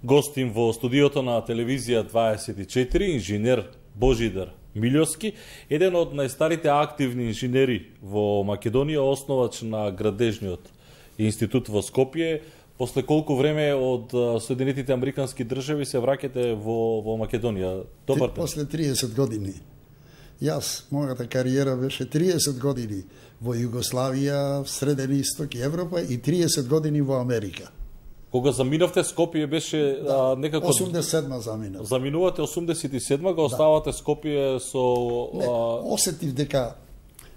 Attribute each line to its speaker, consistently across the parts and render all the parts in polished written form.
Speaker 1: Гостим во студиото на телевизија 24 инженер Божидар Милјовски, еден од најстарите активни инженери во Македонија, основач на Градежниот институт во Скопје. После колку време од Соединетите Американски држави се враќате во Македонија? Добар ден.
Speaker 2: После 30 години. Јас, мојата кариера беше 30 години во Југославија, Среден Исток и Европа и 30 години во Америка.
Speaker 1: Кога заминавте, Скопје беше некако...
Speaker 2: 87-ма заминав.
Speaker 1: Заминувате 87-ма, го оставате Скопје со...
Speaker 2: Не, осетив дека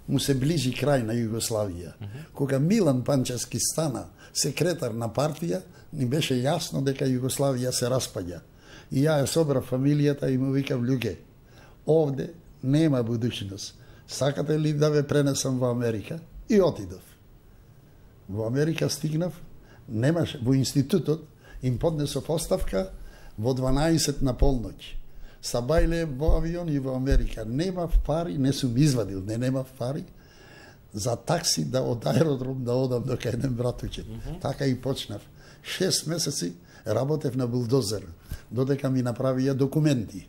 Speaker 2: му се ближи крај на Југославија. Кога Милан Панчевски стана секретар на партија, ни беше јасно дека Југославија се распаѓа. И ја ја собрав фамилијата и му викав: луѓе, овде нема будуćност. Сакате ли да ве пренесам во Америка? И отидов. Во Америка стигнав, немаше, во институтот им поднесов оставка во 12 на полноќ. Сабајле во авион и во Америка. Немав пари, не сум извадил, немав пари за такси да од аеродром да одам до кај еден братуче. Така и почнав. 6 месеци работев на булдозер, додека ми направија документи.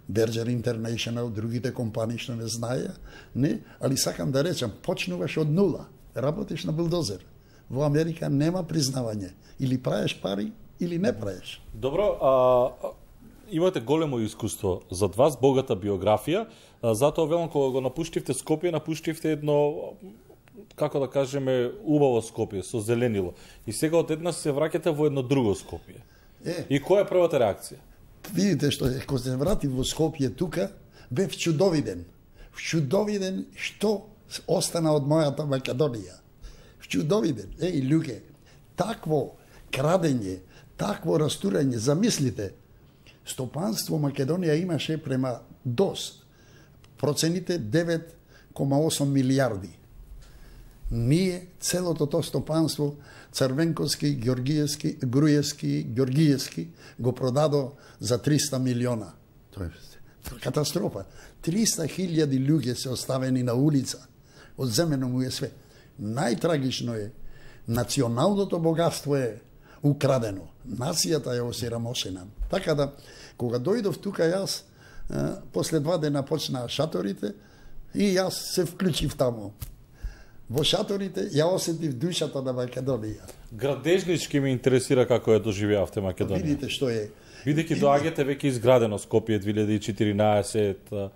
Speaker 2: Berger International, другите компании што не знаеја, не, али сакам да речам, почнуваш од нула, работиш на булдозер. Во Америка нема признавање, или праеш пари, или не праеш.
Speaker 1: Добро, имате големо искуство зад вас, богата биографија, затоа велам кога го напуштивте Скопје, напуштивте едно, како да кажеме, убаво Скопје, со зеленило. И сега одеднаш се враќате во едно друго Скопје. И која е првата реакција?
Speaker 2: Видите што е, кога се вратив во Скопје тука, бев чудовиден. Чудовиден што остана од мојата Македонија. Чудовиден. Луѓе, такво крадење, такво растурање, замислите, стопанство Македонија имаше према ДОС. Процените 9,8 милиарди. Ние, целото то стопанство, Црвенковски, Георгиевски, Груевски, Георгиевски, го продадо за 300 милиона. Тоа е катастрофа. 300.000 луѓе се оставени на улица. Одземено му е све. Најтрагично е, националното богатство е украдено. Нацијата е осирамошена. Така да, кога дојдов тука јас, после 2 дена почнаа шаторите и јас се вклучив таму. Во шаторите ја осетив душата на Македонија.
Speaker 1: Градежнички ме интересира како ја доживеавте Македонија.
Speaker 2: Видите што е.
Speaker 1: Бидејќи доаѓате веќе изградено Скопје 2014.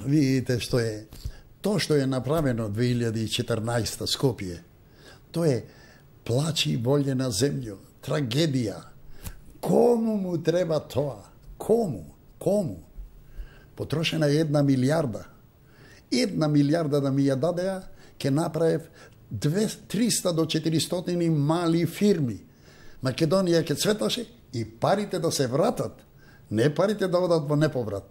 Speaker 2: Видите што е. Тоа што е направено 2014 Скопје, тоа е плач и болje на земјо, трагедија. Кому му треба тоа? Кому? Потрошена е 1 милиарда. 1 милиарда да ми ја дадеа, ке направев 300 до 400 мали фирми. Македонија ке цветаше и парите да се вратат, не парите да одат во неповрат.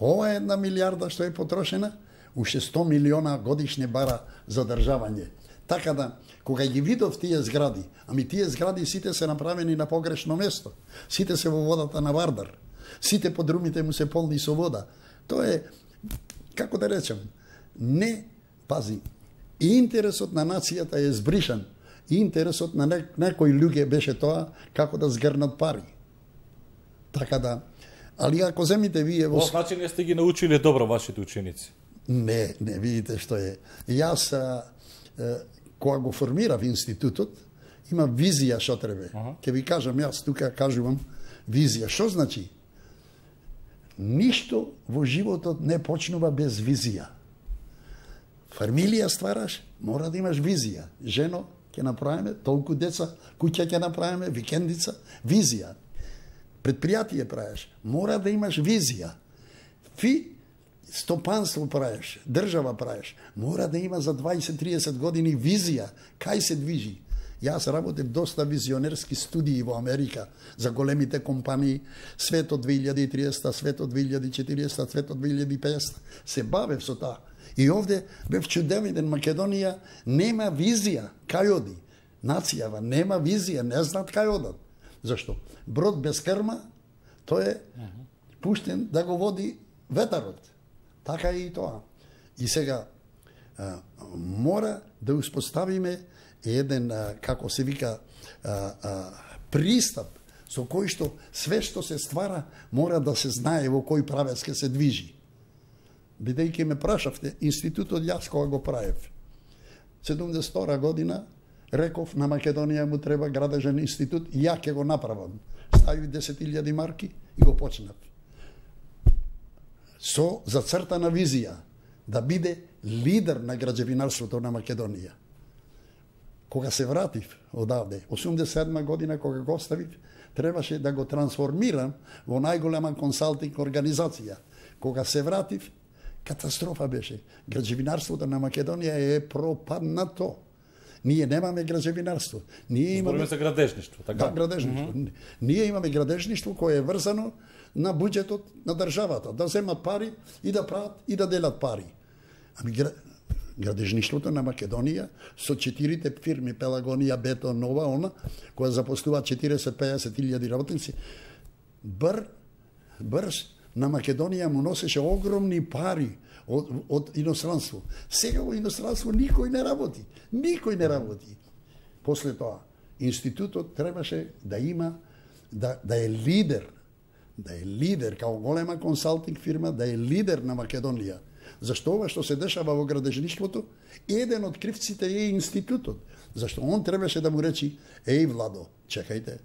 Speaker 2: Ова е 1 милиарда што е потрошена, уште 100 милиона годишне бара за државање. Така да, кога ги видов тие згради, ами тие згради сите се направени на погрешно место, сите се во водата на Вардар, сите подрумите му се полни со вода. Тоа е, како да речем, не, пази, интересот на нацијата е збришан. Интересот на некои луѓе беше тоа како да згрнат пари. Така да, али ако земите вие...
Speaker 1: Во начин не сте ги научиле добро вашите ученици.
Speaker 2: Не, видите што е. Јас, кога го формирав институтот, има визија што треба. Ке ви кажам, јас тука кажувам визија. Што значи? Ништо во животот не почнува без визија. Фамилија ствараш, мора да имаш визија. Жено ќе направиме, толку деца, куќа ќе направиме, викендица, визија. Предпријатие правиш, мора да имаш визија. Стопанство правиш, држава правиш, мора да има за 20-30 години визија, кај се движи. Јас работев доста визионерски студии во Америка за големите компании, светот 2030, светот 2040, светот 2050. Се бавев со таа. И овде бев чудовиден. Македонија нема визија кај оди. Нацијава нема визија, не знаат кај одат. Зашто? Брод без крма, тој е пуштен да го води ветарот. Така е и тоа. И сега мора да успоставиме еден, како се вика, пристап со кој што све што се ствара мора да се знае во кој правец ќе се движи. Бидејќи ме прашавте, институтот јас кога го правев. 72 година реков на Македонија му треба градежен институт и ја ќе го направам. Ставив 10.000 марки и го почнав. Со зацртана визија да биде лидер на граđевинарството на Македонија. Кога се вратив одавде, 87 година кога го оставив, требаше да го трансформирам во најголема консалтинг организација. Кога се вратив, катастрофа беше. Граđевинарството на Македонија е пропаднато. Ние немаме граđевинарство. Ние имаме
Speaker 1: за градежништво, така?
Speaker 2: Да, градежништво. Ние имаме градежништво кое е врзано на буџетот на државата, да земат пари и да прават и да делат пари. Ами градежништвото на Македонија со 4 фирми Пелагонија, Бетон, Нова, она, која запослува 40-50 илјади работници, брз на Македонија му носеше огромни пари од иностранство. Сега во иностранство никој не работи. Никој не работи. После тоа, институтот требаше да има, да е лидер, као голема консалтинг фирма, да е лидер на Македонија. Зашто ова што се дешава во градежништвото, еден од кривците е институтот. Зашто он требаше да му речи, еј Владо, чекајте,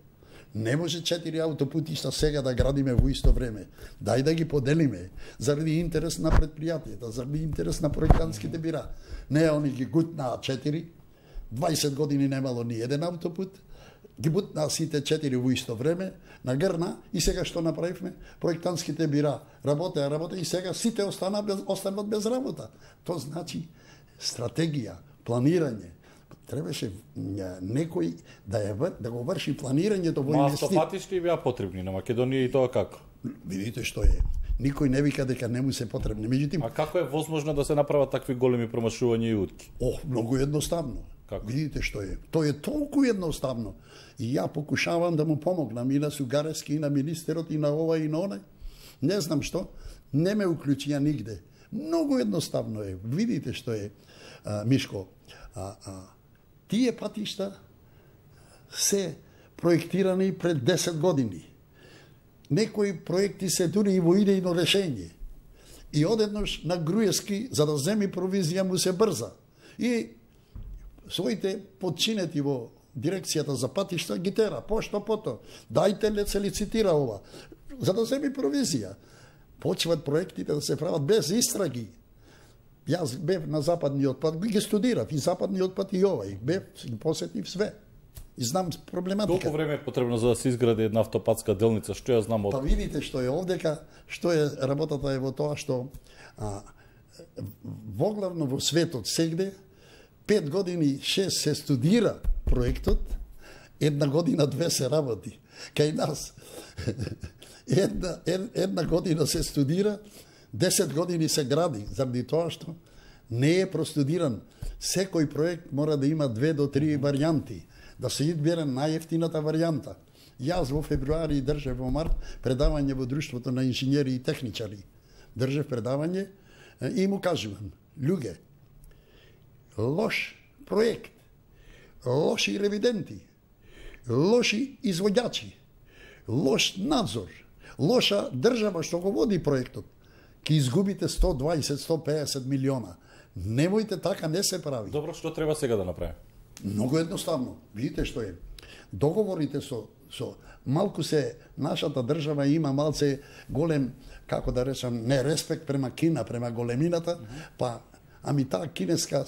Speaker 2: не може 4 аутопутишта сега да градиме во исто време. Дај да ги поделиме, заради интерес на предпријатијата, заради интерес на проектантските бира. Не, они ги гутнаа 4, 20 години немало ни еден аутопут, ги бутнаа сите 4 во исто време, нагрна и сега што направивме? Проектантските бира работеа и сега сите останат без работа. Тоа значи стратегија, планирање. Требаше некој да го врши планирањето во инвестиции.
Speaker 1: Автопатишти беа потребни на Македонија и тоа како?
Speaker 2: Видите што е. Никој не вика дека не му се потребни. Меѓутоа,
Speaker 1: а како е возможно да се направат такви големи промашувања и утки?
Speaker 2: Многу едноставно.
Speaker 1: Како?
Speaker 2: Видите што е. Тоа е толку едноставно. И ја покушавам да му помогнам и на Сугарески, и на министерот, и на ова, и на онај. Не знам што, не ме уклучија нигде. Многу едноставно е. Видите што е, Мишко. Тие патишта се проектирани пред 10 години. Некои проекти се дури и во идејно решење. И одеднаш на Груевски, за да земи провизија, му се брза. И своите подчинети во дирекцијата за патишта ги тера, пошто пото. Дајте ли се лицитира ова, за да земи провизија. Почват проектите да се прават без истраги. Јас бев на западниот пат, ги студирав и западниот пат и овај, бев, ги посетив све. И знам проблематика.
Speaker 1: Колку време е потребно за да се изгради една автопатска делница? Што ја знам од...
Speaker 2: Па видите што е овдека, што е работата е во тоа што воглавно во светот сегде 5 години 6 се студира проектот, 1 година 2 се работи. Кај нас една година се студира, 10 години се гради, заради тоа што не е простудиран. Секој проект мора да има 2 до 3 варијанти, да се избере најефтината варијанта. Јас во февруари држев во март предавање во Друштвото на инженери и техничари. Држев предавање и му кажувам, луѓе, лош проект, лоши ревиденти, лоши извоѓачи, лош надзор, лоша држава што го води проектот, ќе изгубите 120-150 милиона. Немојте така, не се прави.
Speaker 1: Добро, што треба сега да направи?
Speaker 2: Многу едноставно. Видите што е. Договорите со малку се нашата држава има малце голем, како да речам, нереспект према Кина, према големината, па ами таа кинеска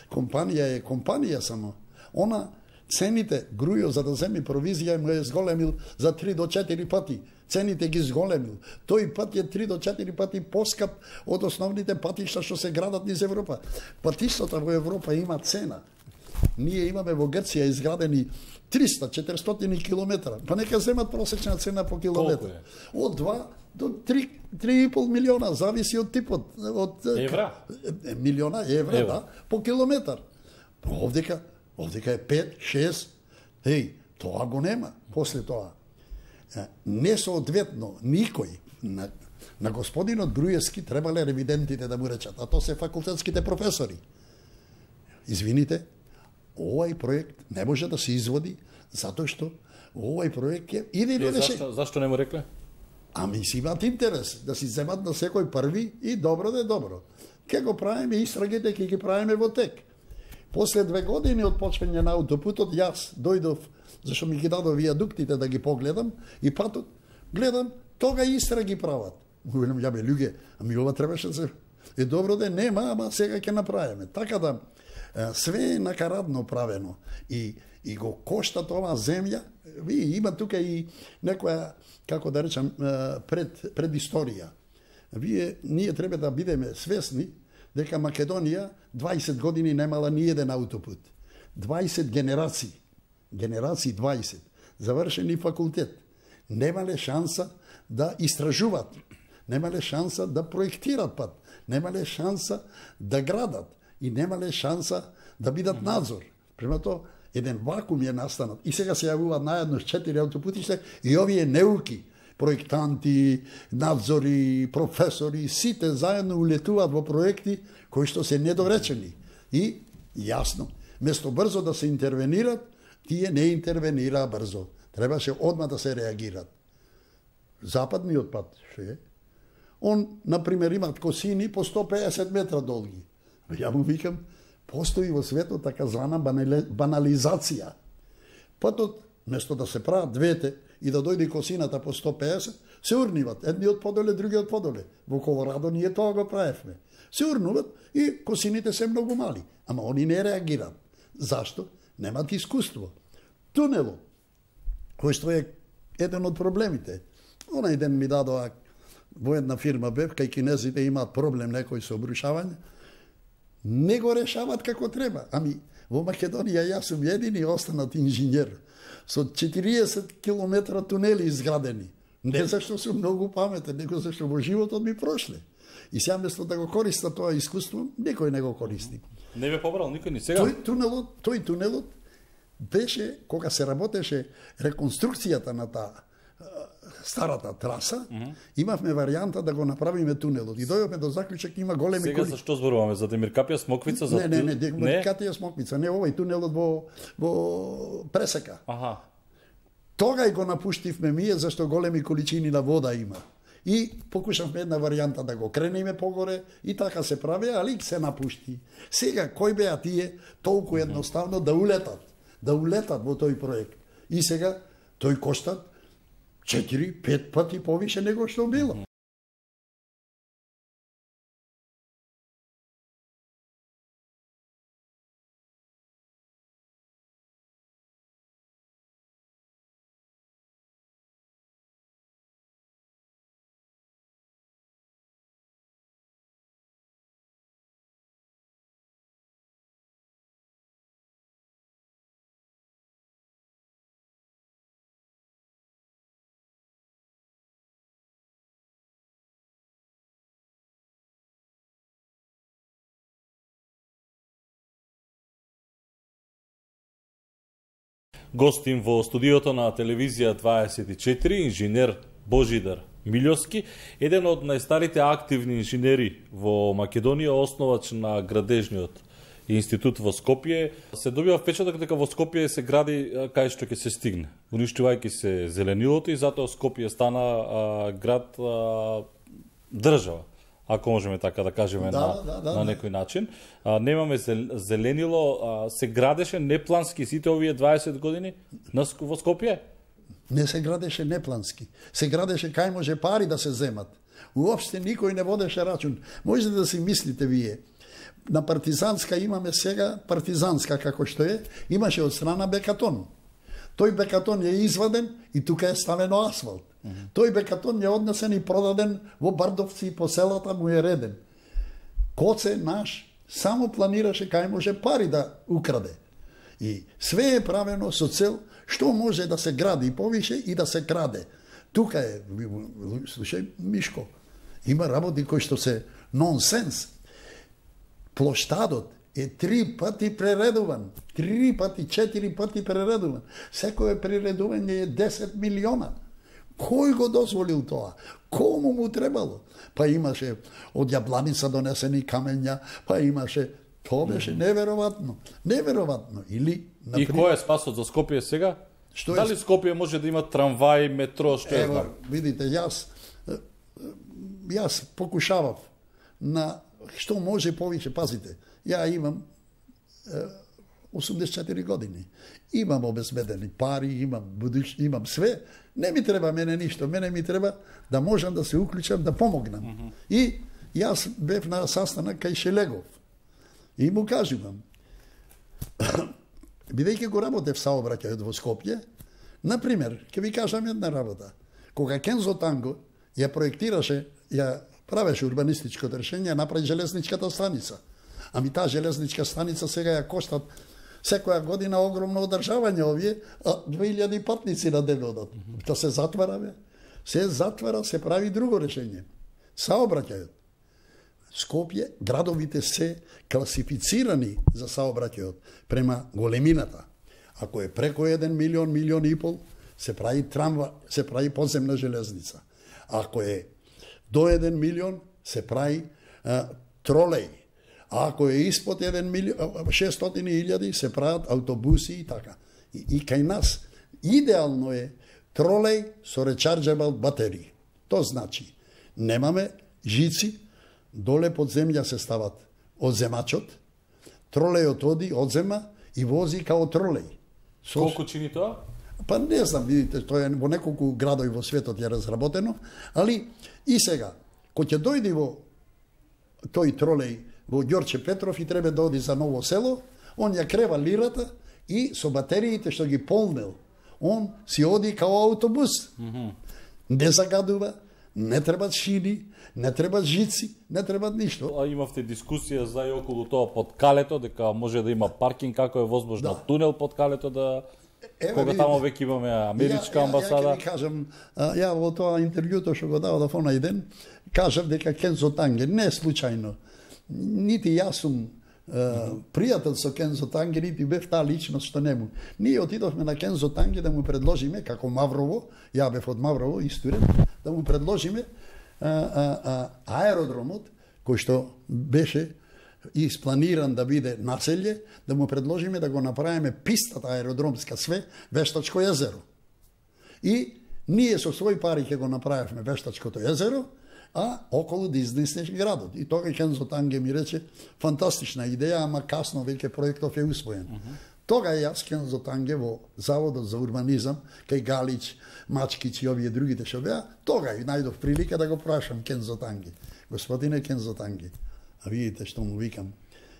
Speaker 2: компанија е компанија само. Она цените Грујо за да земи провизија му е зголемил за 3 до 4 пати. Цените ги зголемил. Тој пат е 3 до 4 пати поскап од основните патишта што се градат низ Европа. Патиштата во Европа има цена. Ние имаме во Грција изградени 300-400 километра. Па нека земат просечна цена по километар. Од 2 до 3,5 милиона, зависи од типот. Од
Speaker 1: евра?
Speaker 2: Милиона евра, да, по километар. Овдека е 5-6. Еј, тоа го нема. После тоа, несоодветно никој на господинот Груевски требале ревидентите да му речат, а тоа се факултетските професори. Извините, овај проект не може да се изводи Затоа што овој проект е идејно
Speaker 1: решение. Зашто не му рекле?
Speaker 2: Ами си имат интерес да си земат на секој први и добро да е добро. Ке го правиме истрагите, ке ги правиме во тек. После 2 години од почвање на аутопутот, јас дојдов, зашто ми ги дадо виадуктите да ги погледам, и патот, гледам, тога истраги прават. Велам, ја бе, луѓе, ами ова требаше да се... Е добро да нема, ама сега ќе направиме. Така да, све е накарадно правено. И го кошта тоа земја. Ви има тука и некоја, како да речам, пред историја. Ние треба да бидеме свесни дека Македонија 20 години немала ни еден аутопут. 20 генерации, 20, завршени факултет. Немале шанса да истражуваат, немале шанса да проектират пат, немале шанса да градат и немале шанса да бидат надзор. Према тоа, еден вакуум е настанат. И сега се јавуваат наедно 4 аутопутишта и овие неуки, проектанти, надзори, професори, сите заедно улетуваат во проекти кои што се недоречени. И, јасно, место брзо да се интервенират, тие не интервенираа брзо. Требаше одма да се реагират. Западниот пат, ше? Он, например, имат косини по 150 метра долги. Ја му викам, постои во светот така звана банализација. Патот, место да се прават двете и да дојде косината по 150, се урниват. Едниот подоле, другиот подоле. Во Колорадо ние тоа го правевме. Се урнуват и косините се многу мали. Ама они не реагираат. Зашто? Немат искуство. Тунелот, кој што е еден од проблемите. Онај ден ми дадоа во една фирма бев, кај кинезите имаат проблем некој со обрушавање, не го решават како треба. Ами, во Македонија јас сум едини останат инженер со 40 километра тунели изградени. Не зашто сум многу паметен, него зашто во животот ми прошле. И сега место да го користа тоа искуство, никој не го користи.
Speaker 1: Не бе побрал никој ни сега.
Speaker 2: Тој тунелот беше, кога се работеше реконструкцијата на таа старата траса, имавме варијанта да го направиме тунелот. И дојдовме до заклучок, има големи
Speaker 1: Сега за што зборуваме? За Демиркапија Смоквица?
Speaker 2: Не, Демиркапија Смоквица, не овој тунелот во Пресека.
Speaker 1: Аха.
Speaker 2: Тогај го напуштивме ние, зашто големи количини на вода има. И покушавме една варијанта да го кренеме погоре и така се прави, али се напушти. Сега, кој беа тие толку едноставно да улетат во тој проект. И сега, тој кошта 4-5 пати повише него што било.
Speaker 1: Гостим во студиото на телевизија 24 инженер Божидар Милјовски, еден од најстарите активни инженери во Македонија, основач на градежниот институт во Скопје. Се добива впечаток дека во Скопје се гради кај што ќе се стигне, уништувајќи се зеленилото, и затоа Скопје стана град држава, ако можеме така да кажеме на некој начин. Немаме зеленило, се градеше неплански сите овие 20 години во Скопје?
Speaker 2: Не се градеше неплански. Се градеше кај може пари да се земат. Уопште никој не водеше рачун. Можете да си мислите вие. На Партизанска имаме сега, Партизанска како што е, имаше од страна бекатон. Тој бекатон е изваден и тука е ставено асфалт. Тој бекатон е однесен и продаден во Бардовци и по селата му е реден. Коце наш само планираше кај може пари да украде. И све е правено со цел што може да се гради повише и да се краде. Тука е, слушај, Мишко, има работи кои што се нонсенс. Плоштадот е 3 пати прередуван. 3 пати, 4 пати прередуван. Секое прередување е 10 милиона. Кој го дозволил тоа? Кому му требало? Па имаше од Јабланица донесени камења, па имаше... Тоа беше неверојатно. Неверојатно. Или,
Speaker 1: например... И кој е спасот за Скопје сега? Дали Скопје може да има трамвај, метро, што е знам?
Speaker 2: Видите, јас покушавав на што може повеќе, пазите. Ја имам 84 години. Имам обезбедени пари, имам све. Не ми треба мене ништо. Мене ми треба да можам да се уклучам, да помогнам. И јас бев на saстанак кај Шелегов. И му кажувам, бидејќи го работев саобраќајот во Скопје, например, ќе ви кажам една работа. Кога Кензо Танго ја проектираше, ја правеше урбанистичкото решение, направи железничката станица. Ами таа железничка станица сега ја коштат секоја година огромно одржавање овие, 2000 патници на ден одат. Тоа се затвара, бе. Се затвара, се прави друго решение. Саобраќајот. Скопје, градовите се класифицирани за саобраќајот према големината. Ако е преко 1 милион, милион и пол, се прави трамва, се прави подземна железница. Ако е до 1 милион, се прави тролеј. А ако е испод 1 милион, 600.000, се прават автобуси и така. И кај нас идеално е тролеј со rechargeable батерии. То значи, немаме жици, доле под земја се стават одземачот, тролејот оди, одзема и вози као тролеј.
Speaker 1: Колку чини тоа?
Speaker 2: Па не знам, видите, тоа е во неколку градови во светот е разработено, али и сега, кој ќе дојде во тој тролеј во Ѓорче Петров и треба да оди за Ново село, он ја крева лирата и со батериите што ги полнел, он си оди као автобус. Не загадува, не требат шини, не требат жици, не требат ништо.
Speaker 1: А имавте дискусија за и околу тоа под Калето, дека може да има паркинг, како е возможно тунел под Калето да... Кога тамо веќе имаме америчка амбасада.
Speaker 2: Ја ви кажам, ја во тоа интервјуто што го давав онај ден, кажав дека Кензо Танге не е случајно. Нити јас сум пријател со Кензо Танге, нити бев таа личност што нему. Ние отидовме на Кензо Танге да му предложиме, како Маврово, ја бев од Маврово, исторен, да му предложиме аеродромот, кој што беше испланиран да биде населје, да му предложиме да го направиме пистата аеродромска све, Вештачко езеро. И ние со своји пари ќе го направивме Вештачкото езеро, а околу да изнесеш градот. И тога Кензо Танге ми рече, фантастична идеја, ама касно веќе проектов е усвоен. Тога јас Кензо Танге во Заводот за урбанизам, кај Галич, Мачкич и овие другите што беа, тога и најдов прилика да го прашам Кензо Танге. Господине Кензо Танге, а видите што му викам,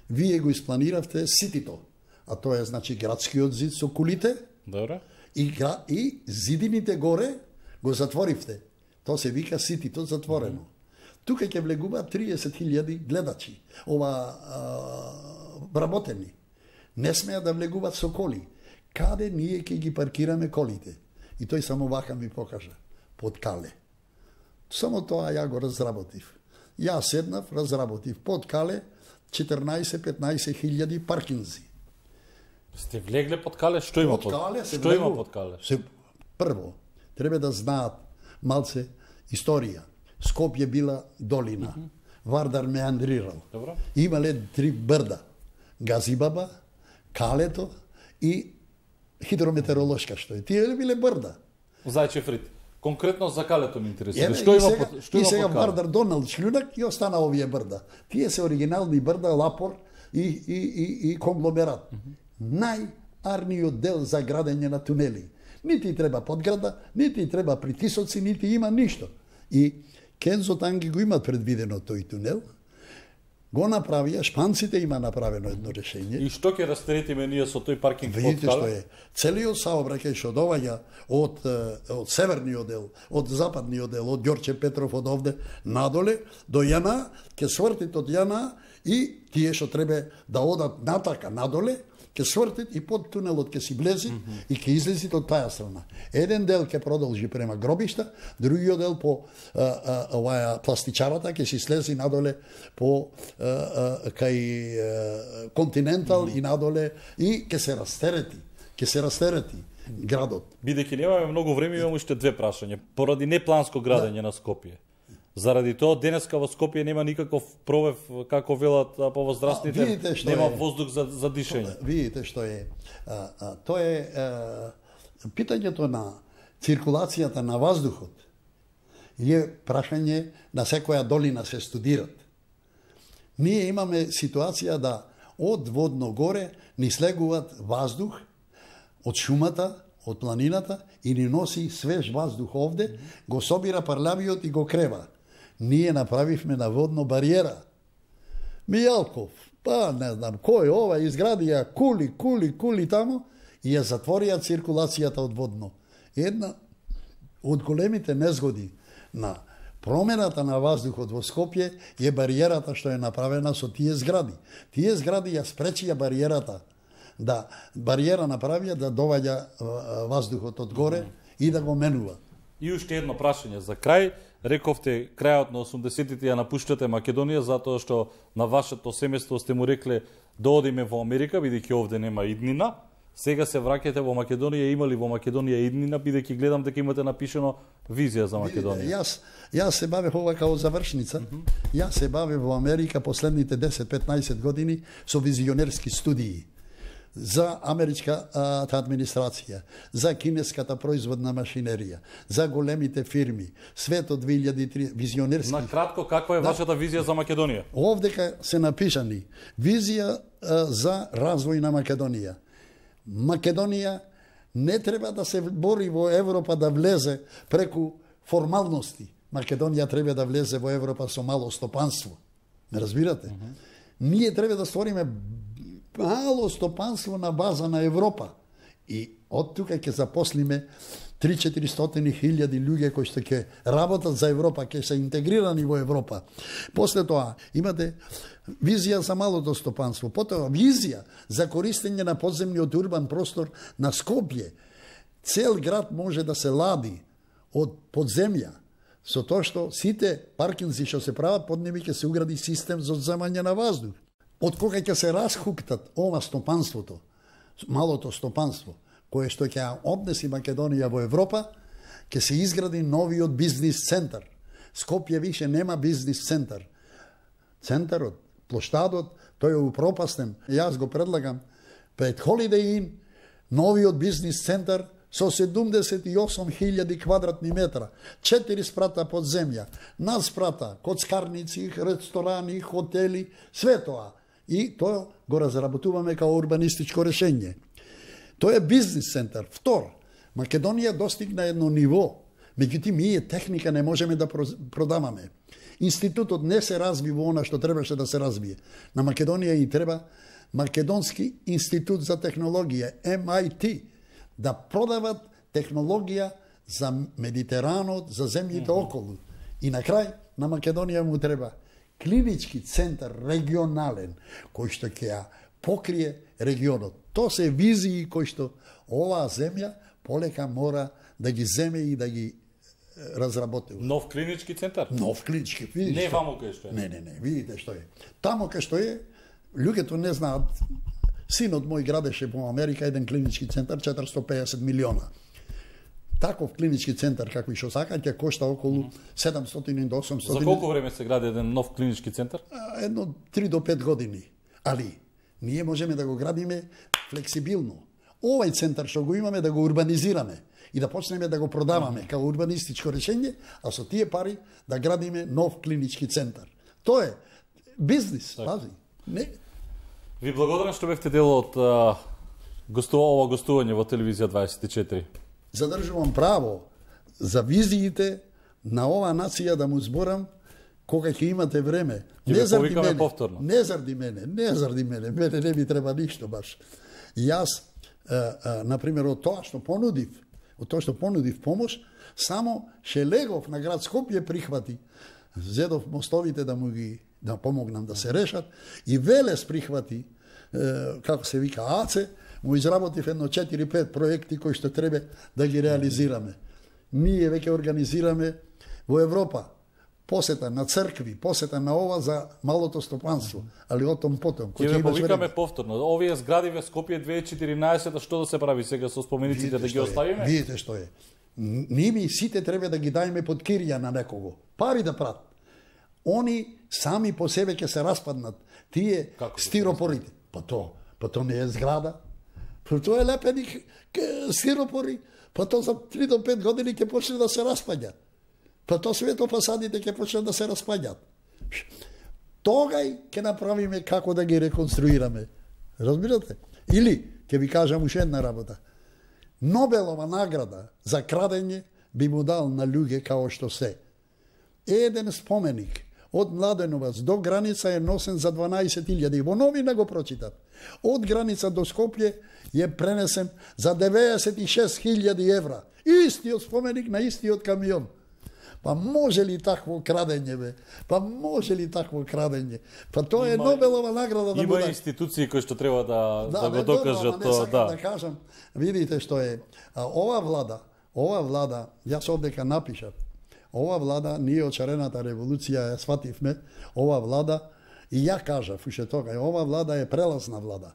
Speaker 2: вие го испланиравте ситито, а тоа е значи градскиот зид со кулите,
Speaker 1: добре,
Speaker 2: и зидините горе го затворивте. Тоа се вика ситито затворено. Тука ќе влегуваат 30.000 гледачи, вработени. Не смеа да влегуваат со коли. Каде ние ќе ги паркираме колите? И тој само вака ми покажа, под Кале. Само тоа ја го разработив. Ја седнав, разработив под Кале 14-15.000 паркинзи.
Speaker 1: Сте влегле под Кале? Што има под Кале? Што има под Кале?
Speaker 2: Прво, треба да знаат малце историја. Скопје била долина. Вардар меандрирал.
Speaker 1: Добро.
Speaker 2: Имале 3 брда. Газибаба, Калето и хидрометеоролошка што е. Тие биле брда.
Speaker 1: Зајчев Рит. Конкретно за Калето ме интересува. Што има под Кале?
Speaker 2: И сега Вардар донал шлюнак и остана овие брда. Тие се оригинални брда, лапор и конгломерат. Најарниот дел за градење на тунели. Нити треба подграда, нити треба притисоци, нити има ништо. И Кензо Танге го имат предвидено тој тунел, го направија, шпанците има направено едно решение.
Speaker 1: И што ќе растеретиме ние со тој паркинг под Кале?
Speaker 2: Видите што е. Целиот саобраќај што доаѓа од северниот дел, од западниот дел, од Ѓорче Петров, од овде надоле до Јана, ќе свртит од Јана и тие што треба да одат натака надоле, ќе свртит и под тунелот ќе си влези и ќе излезит од таа страна. Еден дел ќе продолжи према гробишта, другиот дел по пластичарата ќе си слези надоле по кај Континентал и надоле и ќе се растерети градот.
Speaker 1: Бидејќи немаме многу време, имам уште 2 прашања. Поради непланско градење на Скопје. Заради тоа денеска во Скопје нема никаков пробив, како велат повоздравствените, нема воздух за дишење.
Speaker 2: Видите што е. Тоа е Питањето на циркулацијата на ваздухот е прашање на секоја долина се студират. Ние имаме ситуација да од водно горе ни слегуваат ваздух од шумата, од планината и ни носи свеж ваздух овде, го собира парлавиот и го крева. Ние направивме на водно бариера. Мијалков, па не знам кој, ова изгради ја кули тамо и ја затворија циркулацијата од водно. Една од големите незгоди на промената на ваздухот во Скопје е бариерата што е направена со тие згради. Тие згради ја спречија бариерата, да бариера направија да доваѓа ваздухот од горе и да го менува.
Speaker 1: И уште едно прашање за крај. Рековте крајот на 80-тите ја напуштате Македонија затоа што на вашето семејство сте му рекле да одиме во Америка бидејќи овде нема иднина. Сега се враќате во Македонија, има ли во Македонија иднина, бидејќи гледам дека имате напишено визија за Македонија.
Speaker 2: Јас се бавев ова као завршница. Јас се бавев во Америка последните 10-15 години со визионерски студии за америчката администрација, за кинеската производна машинерија, за големите фирми, светот 2003 визионерски.
Speaker 1: На кратко, каква е вашата визија за Македонија?
Speaker 2: Овдека се напишани визија за развој на Македонија. Македонија не треба да се бори во Европа да влезе преку формалности. Македонија треба да влезе во Европа со мало стопанство. Не разбирате? Ние треба да створиме мало стопанство на база на Европа. И од тука ќе запослиме 3-400 хиљади луѓе кои што ќе работат за Европа, ќе се интегрирани во Европа. После тоа имате визија за малото стопанство, потоа визија за користење на подземниот урбан простор на Скопје. Цел град може да се лади од подземја, со тоа што сите паркинзи што се прават под ними ќе се угради систем за одземање на воздух. Од кога ќе се расхуктат ова стопанството, малото стопанство, кое што ќе однеси Македонија во Европа, ќе се изгради новиот бизнис центар. Скопје више нема бизнис центар. Центарот, плоштадот, тој е упропастен. Јас го предлагам пред Holiday Inn, новиот бизнис центар со 78.000 квадратни метра, 4 спрата под земја, над спрата, коцкарници, ресторани, хотели, све тоа. И тоа го разработуваме као урбанистичко решење. Тоа е бизнис центар. Втор, Македонија достигна едно ниво, меѓутоа ние техника не можеме да продаваме. Институтот не се разви во она што требаше да се развие. На Македонија и треба Македонски институт за технологија, MIT, да продават технологија за Медитеранот, за земјите околу. И на крај, на Македонија му треба клинички центар регионален, кој што ќе ја покрие регионот. Тоа се визии кои што оваа земја полека мора да ги земе и да ги разработи.
Speaker 1: Нов клинички центар?
Speaker 2: Нов клинички. Видиш
Speaker 1: не вамо кај што е.
Speaker 2: Не, видите што е. Тамо кај што е, луѓето не знаат. Синот мој градеше во Америка еден клинички центар 450 милиона. Таков клинички центар како и што сака ќе кошта околу 700 до 800.
Speaker 1: За колку време се гради еден нов клинички центар?
Speaker 2: Едно 3 до 5 години. Али ние можеме да го градиме флексибилно. Овај центар што го имаме да го урбанизираме и да почнеме да го продаваме како урбанистичко решење, а со тие пари да градиме нов клинички центар. Тоа е бизнис, пази. Не.
Speaker 1: Ви благодарам што бевте дел од ова гостување во телевизија 24.
Speaker 2: Задржувам право за визиите на оваа нација да му зборам кога ќе имате време.
Speaker 1: Не заради мене, повторно.
Speaker 2: Не заради мене, мене не ми треба ништо баш. Јас, например, од тоа што понудив помош, само Шелегов на град Скопје прихвати. Зедов мостовите да помогнам да се решат и Велес прихвати, како се вика АЦЕ, му изработив едно 4-5 проекти кои што треба да ги реализираме. Ние веќе организираме во Европа посета на цркви, посета на ова за малото стопанство, али о том потом.
Speaker 1: Ќе ве повикаме повторно. Овие згради во Скопје 2014, што да се прави сега со спомениците, да ги оставиме?
Speaker 2: Видите што е. Ние сите треба да ги дајме под кирија на некого. Пари да прат. Они сами по себе ќе се распаднат. Тие стиропорите. Па то не е зграда. Тоа е лепени стиропори, па тоа за 3 до 5 години ќе почне да се распаѓа. Па тоа светофасадите ќе почнат да се распаѓат. Тогај ќе направиме како да ги реконструираме. Разбирате? Или, ќе ви кажам уште една работа. Нобелова награда за крадење би му дал на луѓе као што се. Еден споменик од Младеновац до граница е носен за 12.000. Во новина го прочитав. Од граница до Скопје е пренесен за 96.000 евра. Истиот споменик на истиот камион. Па може ли такво крадење, бе? Па може ли такво крадење? Па тоа е Нобелова награда да
Speaker 1: има
Speaker 2: буде.
Speaker 1: институции кои што треба да го
Speaker 2: добро,
Speaker 1: докажат
Speaker 2: не
Speaker 1: тоа,
Speaker 2: сакам да кажам. Видите што е. Ова влада, јас одека напишав. Ова влада, ние од Шарената револуција ја свативме, ова влада, и ја кажав уште тога, ова влада е прелазна влада.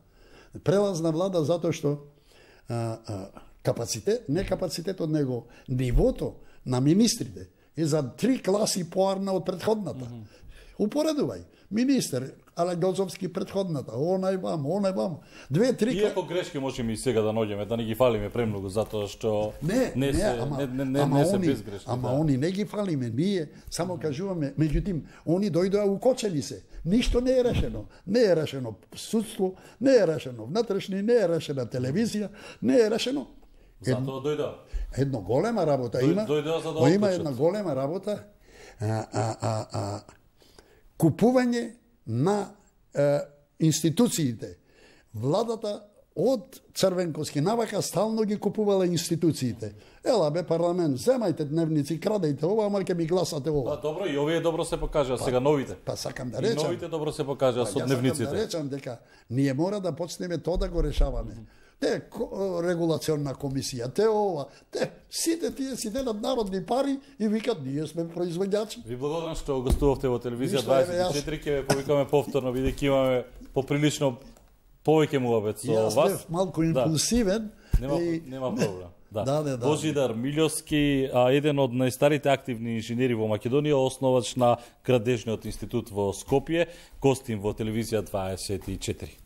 Speaker 2: Прелазна влада затоа што не капацитетот, него нивото на министрите е за 3 класи поарна од претходната. Упоредувај. Министер Алегозовски претходната, онај вам. 2-3
Speaker 1: Иако грешки можеме и сега да наоѓеме, да не ги фалиме премногу, затоа што не се безгрешни.
Speaker 2: Ама они не ги фалиме, ние само кажуваме, меѓутоа, они дојдоа укочени се. Ништо не е решено. Не е решено судство, не е решено внатрешни, не е решена телевизија, не е решено.
Speaker 1: Затоа дојдоа.
Speaker 2: Едно голема работа има.
Speaker 1: Дојдоа за да
Speaker 2: има една голема работа. Купување на институциите. Владата од Црвенковски навака стално ги купувала институциите. Ела бе парламент, земајте дневници, крадејте ова, ама ќе ми гласате ова.
Speaker 1: Добро, и овие добро се покажа сега новите.
Speaker 2: Па сакам да речам.
Speaker 1: И новите добро се покажа со дневниците.
Speaker 2: Сакам да речам дека ние мора да почнеме тоа да го решаваме. Те регулационна комисија, те ова, сите тие си делат народни пари и викат ние сме производјачи.
Speaker 1: Ви благодарам што гостувавте во телевизија 24, ќе ве повикаме повторно бидејќи имаме поприлично повеќе муабет со вас.
Speaker 2: Јас бев малку импулсивен.
Speaker 1: Нема проблем.
Speaker 2: Да.
Speaker 1: Божидар Милјовски, еден од најстарите активни инженери во Македонија, основач на Градежниот институт во Скопје, гостин во телевизија 24.